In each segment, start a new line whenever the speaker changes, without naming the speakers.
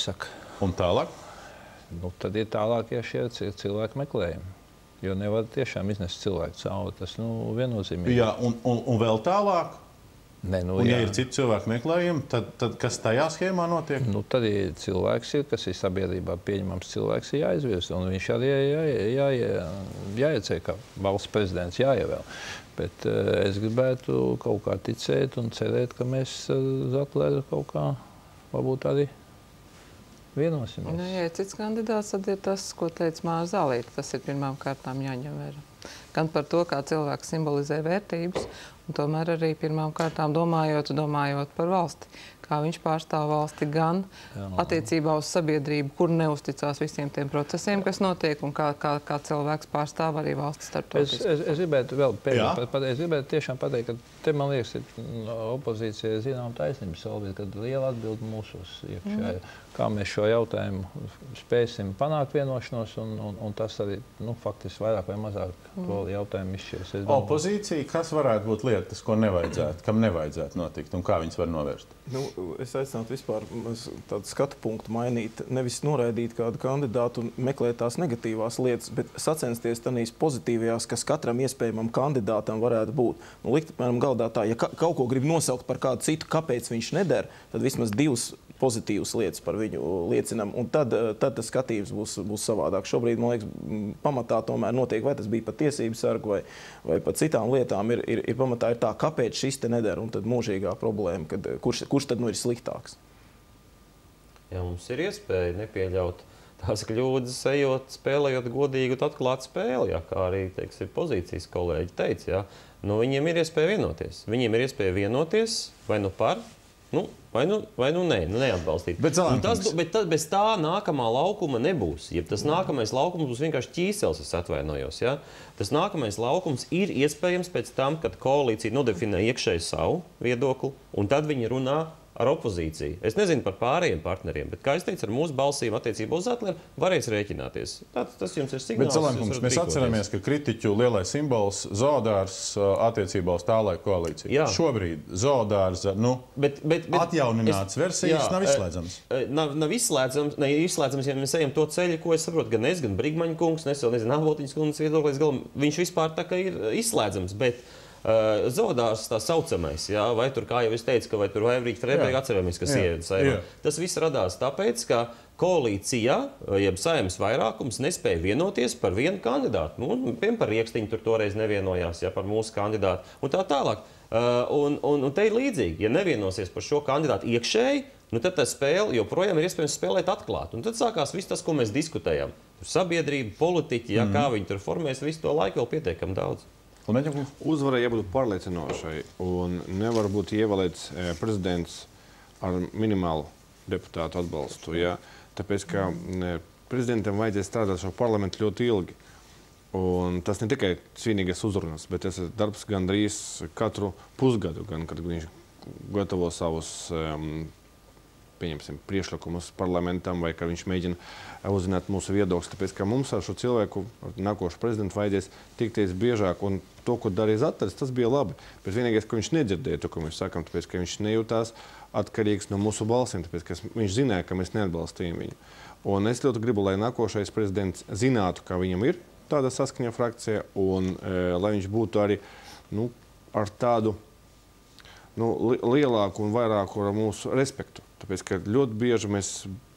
apsaka.
Un tālāk?
Nu, tad ir tālākie šie cilvēku meklējumi. Jo nevar tiešām iznest cilvēku cauri. Tas viennozīmīgi.
Jā, un vēl tālāk?
Ne,
un, ja ir citi cilvēku meklējumi, tad kas tajā schēmā notiek?
Nu, tad ir cilvēks, kas ir sabiedrībā pieņemams cilvēks, ir jāizvirza. Un viņš arī jāiecēj, kā valsts prezidents jāievēl. Bet es gribētu kaut kā ticēt un cerēt, ka mēs Zatleru kaut kā varbūt arī vienosimies.
Nu, ja cits kandidāts, tad ir tas, ko teica Māra Zālīte. Tas ir pirmām kārtām jāņem vērā. Gan par to, kā cilvēks simbolizē vērtības, un tomēr arī pirmām kārtām domājot par valsti. Kā viņš pārstāv valsti gan attiecībā uz sabiedrību, kur neusticās visiem tiem procesiem, kas notiek, un kā cilvēks pārstāv arī valsts starptautiski.
Es gribētu vēl es gribētu tiešām pateikt, ka te, man liekas, ir opozīcija zinām taisnība solvīt, kad liela atbildi mūsos iekšā. Kā mēs šo jautājumu spēsim panākt vienošanos, un tas arī, faktiski vairāk vai mazāk to jautājumu izšķirs.
Opozīcija, kas varētu būt lietas, ko nevajadzētu, kam nevajadzētu notikt, un kā viņas var novērst?
Es aicinātu vispār tādu skatu punktu mainīt, nevis noraidīt kādu kandidātu un meklēt tās negatīvās lietas, bet sacensties tādīs pozitīvajās, kas katram iespējamam kandidātam varētu būt. Likt, piemēram, galdā tā, ja kaut ko grib nosaukt par kādu citu, kāpēc viņš neder, tad vismaz divas pozitīvas lietas par viņu liecinam, un tad tas skatījums būs savādāk. Šobrīd, man liekas, pamatā tomēr notiek, vai tas bija par tiesību sargu vai par citām lietām, ir pamatā ir tā, kāpēc šis te neder, un tad mūžīgā problēma, kad kurš tad ir sliktāks.
Jā, mums ir iespēja nepieļaut tās kļūdas, spēlējot godīgu un atklātu spēli, kā arī, teiksim, pozīcijas kolēģi teica, jā. Viņiem ir iespēja vienoties. Viņiem ir iespēja vienoties vai par, vai nē, neatbalstīt. Bet bez tā nākamā laukuma nebūs. Ja tas nākamais laukums būs vienkārši ķīsels, es atvainojos. Ja? Tas nākamais laukums ir iespējams pēc tam, kad koalīcija nodefinē iekšēji savu viedokli, un tad viņi runā ar opozīciju. Es nezinu par pārējiem partneriem, bet, kā es teicu, ar mūsu balsīm attiecībā uz Zatleru varēs rēķināties. Tas jums ir signāls.
Bet, Zalenkungs, mēs atceramies, ka kritiķu lielais simbols Zoodārs attiecībā uz tālaiku koalīciju. Jā. Šobrīd Zoodārs, atjaunināts versijas nav izslēdzams.
Nav izslēdzams, ja mēs ejam to ceļu, ko es saprotu, gan es, gan Brigmaņa kungs, Avotiņas kungs viedoklis, viņš vispār tā kā ir izslēdzams, bet Zoodārs tā saucamais, jā, vai tur, kā jau es teicu, vai tur Vaivrīķa Freiberga atceramies, kas ieiet saimā. Tas viss radās tāpēc, ka koalīcijā, jeb Saeimas vairākums nespēja vienoties par vienu kandidātu. Piemēram, par Riekstiņu tur toreiz nevienojās, par mūsu kandidātu un tā tālāk. Un te ir līdzīgi, ja nevienosies par šo kandidātu iekšēji, tad tā spēle joprojām ir iespējams spēlēt atklāt. Un tad sākās viss tas, ko mēs diskutējam. Sabiedrība, politiķi, kā viņi tur formēs, visu to laiku vēl pietiekami daudz.
Uzvarai jābūt pārliecinošai, un nevar būt ievēlēts prezidents ar minimālu deputātu atbalstu. Ja? Tāpēc, ka prezidentam vajadzēs strādāt šo parlamentu ļoti ilgi. Un tas ne tikai svinīgas uzrunas, bet tas ir darbs gandrīz katru pusgadu, gan kad viņš gatavo savus priekšlikumus parlamentam, vai ka viņš mēģina uzzināt mūsu viedokļus. Tāpēc, ka mums ar šo cilvēku, nākošu prezidentu, vajadzēs tikties biežāk, un to, ko darīja Zatleris, tas bija labi. Bet vienīgais, ka viņš nedzirdēja to, ko mēs sakām, tāpēc, ka viņš nejūtās atkarīgs no mūsu balsīm, tāpēc, ka viņš zināja, ka mēs neatbalstījām viņu. Un es ļoti gribu, lai nākošais prezidents zinātu, ka viņam ir tāda saskaņa frakcija, un lai viņš būtu arī ar tādu lielāku un vairāku ar mūsu respektu. Tāpēc, ka ļoti bieži mēs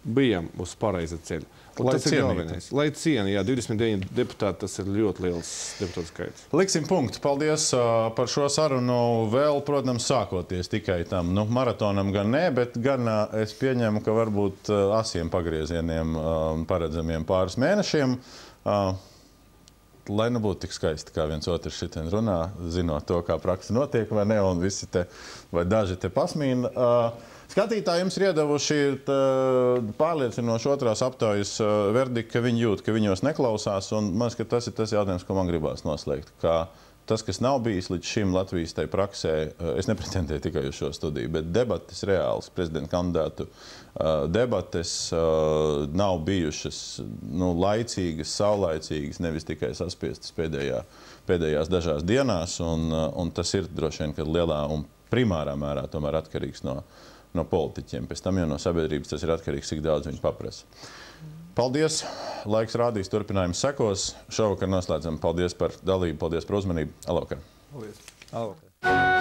bijām uz pareiza ceļa. Lai ciena, 29 deputāti, tas ir ļoti liels deputātu skaits.
Liksim punktu. Paldies par šo sarunu. Vēl, protams, sākoties tikai tam maratonam gan nē, bet gan es pieņemu, ka varbūt asiem pagriezieniem paredzamiem pāris mēnešiem. Lai nebūtu tik skaisti, kā viens otrs šitien runā, zinot to, kā praksa notiek vai ne, un visi te, vai daži te pasmīna. Skatītāji jums ir iedavuši pārliecinoši otrās aptaujas verdikti, ka viņi jūt, ka viņos neklausās, un man liekas, ka tas ir tas jautājums, ko man gribās noslēgt. Ka tas, kas nav bijis līdz šim Latvijas tai praksē, es nepretendēju tikai uz šo studiju, bet debates reāls, prezidenta kandidātu debates nav bijušas laicīgas, saulaicīgas, nevis tikai saspiestas pēdējās dažās dienās, un tas ir droši vien, ka lielā un primārā mērā tomēr atkarīgs no no politiķiem. Pēc tam jau no sabiedrības tas ir atkarīgs, cik daudz viņi paprasa. Paldies! Laiks rādīs, turpinājums sekos. Šovakar noslēdzam. Paldies par dalību, paldies par uzmanību. Alvakar!
Paldies!
Alvakar.